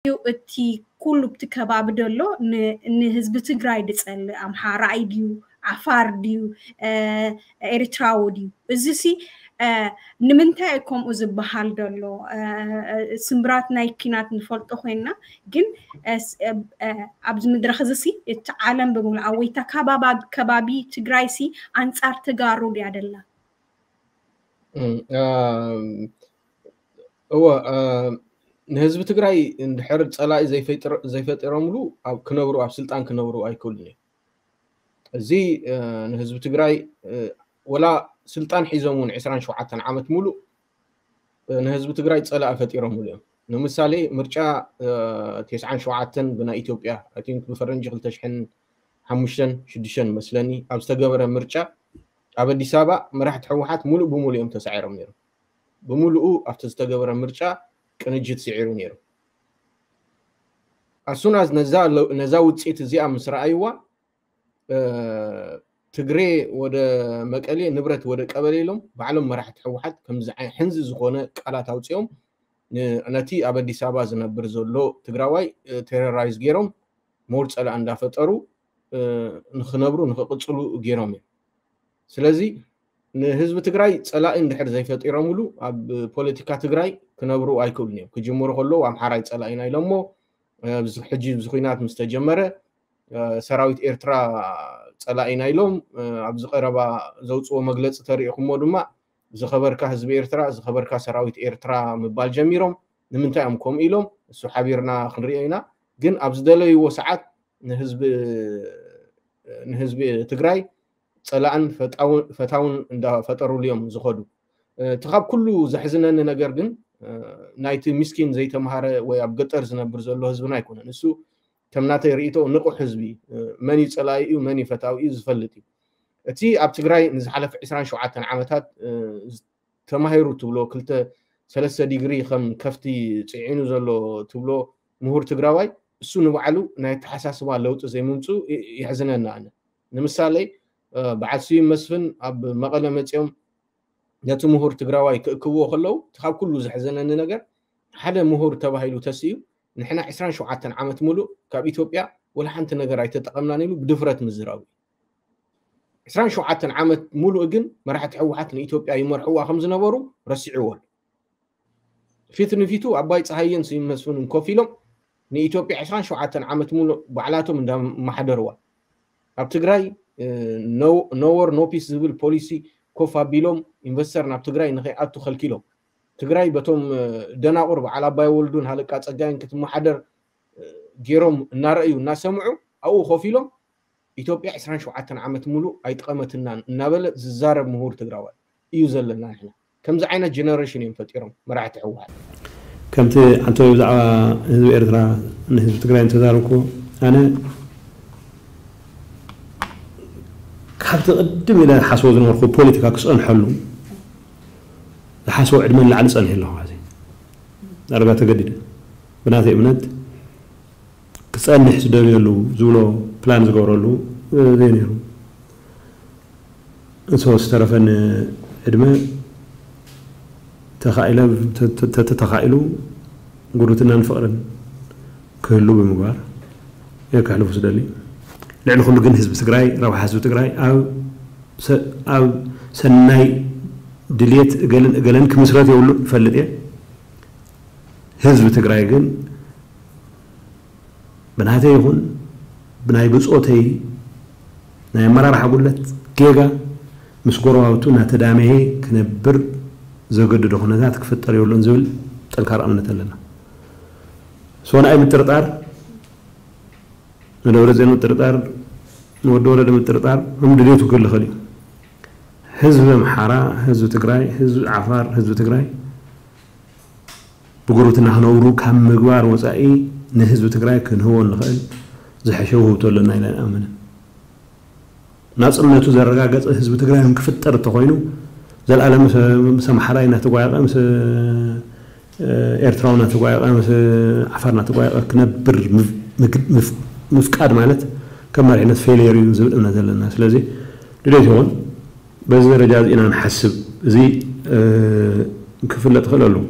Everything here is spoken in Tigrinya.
እዩ እቲ ኩሉ ኣብቲ ከባቢ ደሎ ን- ንህዝቢ ትግራይ ድጸልእ ኣምሓራይ ድዩ ዓፋር ድዩ ኤርትራዊ ድዩ? እዚሲ ንምንታይ ከምኡ ዝበሃል ደሎ? ስምብራት ናይ ኪናት ንፈልጦ ኮይና ግን ኣብዚ ምድረኽ እዚሲ እቲ ዓለም ብምሉኣ ወይታ ከባቢ ትግራይሲ ኣንጻር ተጋሩ ድያ ደላ? እወ፣ ንህዝቢ ትግራይ እንድሕር ፀላኢ ዘይፈጢሮምሉ ክነብሩ ኣብ ስልጣን ክነብሩ ኣይክእሉን እዮም። እዚ ንህዝቢ ትግራይ ወላ ስልጣን ሒዞም እውን ዕስራን ሸውዓተን ዓመት ሙሉእ ንህዝቢ ትግራይ ፀላኢ ፈጢሮምሉ እዮም። ንምሳሌ ምርጫ ተስዓን ሸውዓተን ብናይ ኢትዮጵያ ብፈረንጂ ክልተ ሽሕን ሓሙሽተን ሽዱሽተን መስለኒ ኣብ ዝተገበረ ምርጫ ኣብ ኣዲስ ኣበባ መራሕቲ ህወሓት ሙሉእ ብሙሉእ እዮም ተሳዒሮም ነይሮም። ብምሉኡ ኣብቲ ዝተገበረ ምርጫ ቅንጅት ስዒሩ ነይሩ። ኣሱናዝ ነዛ ውፅኢት እዚኣ ምስ ረኣይዋ ትግሬ ወደ መቀሌ ንብረት ወደ ቀበሌ ኢሎም ባዕሎም መራሕቲ ህወሓት ከምዚ ሕንዚ ዝኾነ ቃላት ኣውፅኦም ነቲ ኣብ ኣዲስ ኣበባ ዝነብር ዘሎ ትግራዋይ ቴሮራይዝ ገይሮም ሞር ፀላእ እንዳፈጠሩ ንክነብሩ ንክቅፅሉ ገይሮም እዮም። ስለዚ ንህዝቢ ትግራይ ፀላኢ እንድሕር ዘይፈጢሮምሉ ኣብ ፖለቲካ ትግራይ ክነብሩ ኣይክእሉን እዮም። ክጅምሩ ከለዉ ኣምሓራይ ፀላኢና ኢሎሞ ሕጂ እዚ ኩናት ምስ ተጀመረ ሰራዊት ኤርትራ ፀላኢና ኢሎም ኣብዚ ቀረባ ዘውፅዎ መግለፂ ተሪኢኹሞ ድማ ዝኸበርካ ህዝቢ ኤርትራ ዝኸበርካ ሰራዊት ኤርትራ ምባል ጀሚሮም። ንምንታይ እዮም ከምኡ ኢሎም እሱ ሓቢርና ክንሪኦ ኢና። ግን ኣብ ዝደለይዎ ሰዓት ንህዝቢ ንህዝቢ ትግራይ ፀላእን ፈታውን እንዳፈጠሩሉ እዮም ዝኸዱ። እቲ ካብ ኩሉ ዘሕዝነኒ ነገር ግን ናይቲ ምስኪን ዘይተምሃረ ወይ ኣብ ገጠር ዝነብር ዘሎ ህዝብና ኣይኮነን። እሱ ከም ናተይ ርኢቶ ንቑሕ ህዝቢ መን እዩ ፀላኢ እዩ መን እዩ ፈታዊ እዩ ዝፈልጥ እዩ። እቲ ኣብ ትግራይ ንዝሓለፈ ዕስራን ሸውዓተን ዓመታት ተማሂሩ ትብሎ ክልተ ሰለስተ ዲግሪ ከም ከፍቲ ፅዒኑ ዘሎ ትብሎ ምሁር ትግራዋይ እሱ ንባዕሉ ናይ ኣተሓሳስባ ለውጢ ዘይምምፅኡ የሕዝነኒ ኣነ። ንምሳሌ በዓል ስዩም መስፍን ኣብ መቐለ መፂኦም ነቲ ምሁር ትግራዋይ ክእክብዎ ከለዉ እቲ ካብ ኩሉ ዘሕዘነኒ ነገር ሓደ ምሁር ተባሂሉ ተስኡ ንሕና ዕስራን ሸውዓተን ዓመት ሙሉእ ካብ ኢትዮጵያ ወላ ሓንቲ ነገር ኣይተጠቐምናን ኢሉ ብድፍረት ምዝራቡ እዩ። ዕስራን ሸውዓተን ዓመት ሙሉእ ግን መራሕቲ ህወሓት ንኢትዮጵያ ይመርሕዋ ከም ዝነበሩ ረሲዕዎ ኣሎ። ፊት ንፊቱ ኣባይ ፀሃየን ስዩም መስፍንን ኮፍ ኢሎም ንኢትዮጵያ ዕስራን ሸውዓተን ዓመት ሙሉእ ባዕላቶም እንዳመሓደርዋ ኣብ ትግራይ ኖ ዎር ኖ ፒስ ዝብል ፖሊሲ ኮፍ ኣቢሎም ኢንቨስተር ናብ ትግራይ ንከይኣቱ ከልኪሎም ትግራይ በቶም ደናቑር በዓል ኣባይ ወልዱን ሃለቃ ፀጋይን ክትመሓደር ገይሮም እናረእዩ እናሰምዑ ኣብኡ ኮፍ ኢሎም ኢትዮጵያ ዕስራን ሸውዓተን ዓመት ሙሉእ ኣይጠቐመትናን እናበለ ዝዛረብ ምሁር ትግራዋይ እዩ ዘለና ንሕና። ከምዚ ዓይነት ጀነሬሽን እዮም ፈጢሮም መራሕቲ ህወሓት። ከምቲ ዓንተወይ ብዛዕባ ህዝቢ ኤርትራ ንህዝቢ ትግራይ እንተዛረብኩ ኣነ ካብቲ ቅድም ኢለ ሓስቦ ዝነበርኩ ፖለቲካ ክፀንሐሉ ዝሓስቦ ዕድመ ንላዕሊ ፀኒሐ ኣለኹ። ዳርጋ ተገዲደ ብናተይ እምነት ክፀንሕ ዝደልየሉ ዝብሎ ፕላን ዝገብረሉ ዘይነይሩ። እቶ ዝተረፈኒ ዕድመ ተኻኢለ ተተኻኢሉ ጉርብትናን ፍቕርን ክህሉ ብምግባር እየ ከሕልፉ ዝደሊ። ልዕሊ ኩሉ ግን ህዝቢ ትግራይ ረብሓ ህዝቢ ትግራይ ኣብ ሰናይ ድልየት እገልን እገለን ክምስረት የብሉን እፈልጥ እየ። ህዝቢ ትግራይ ግን ብናተይ ይኹን ብናይ ብፆተይ ናይ ኣመራርሓ ጉድለት ጌጋ ምስ ጎረባብቱ እናተዳመየ ክነብር ዘገድዶ ኩነታት ክፍጠር የብሉን ዝብል ጠንካራ እምነት ኣለና። ሶ ንኣይ ምጥርጣር ንደብረፅዮን ምጥርጣር ንወዲ ወረደ ምጥርጣር ከም ድሌቱ ክልኸል እዩ። ህዝቢ ኣምሓራ፣ ህዝቢ ትግራይ፣ ህዝቢ ዓፋር፣ ህዝቢ ትግራይ ብጉርብትና ክነብሩ ካብ ምግባር ወፃኢ ንህዝቢ ትግራይ ክንህቦ እንኽእል ዝሐሸ ውህብቶ ኣለና ኢለ ኣይኣምንን። ናፅነቱ ዘረጋገፀ ህዝቢ ትግራይ እውን ክፍጠር እንተኾይኑ ዘልኣለም ምስ ኣምሓራይ እናተጓየቐ ምስ ኤርትራዊ እናተጓየቐ ምስ ዓፋር እናተጓየቐ ክነብር ምፍቃድ ማለት ከም መሪሕነት ፌልየር እዩ ዝብል እምነት ዘለና። ስለዚ ድሌት ይኹን በዚ ደረጃ እዚ ኢና ንሓስብ። እዚ ክፍለጥ ይኽእል ኣለዎ።